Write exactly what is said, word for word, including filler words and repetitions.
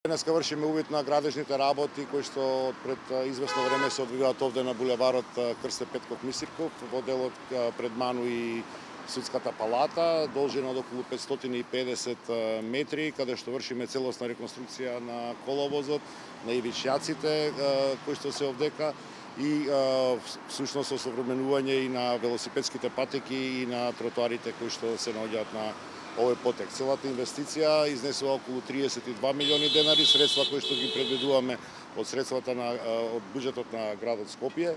Денеска вршиме увид на градежните работи кои што пред извесно време се одвиваат овде на булеварот Крсте Петков Мисирков, во делот пред Ману и Судската палата, должина од околу петстотини и педесет метри, каде што вршиме целосна реконструкција на коловозот, на ивичјаците кои што се овдека и всушност осовременување и на велосипедските патеки и на тротоарите кои што се наоѓаат на овој потек. Целата инвестиција изнесува околу триесет и два милиони денари, средства кои што ги предвидуваме од средствата на од буџетот на градот Скопје.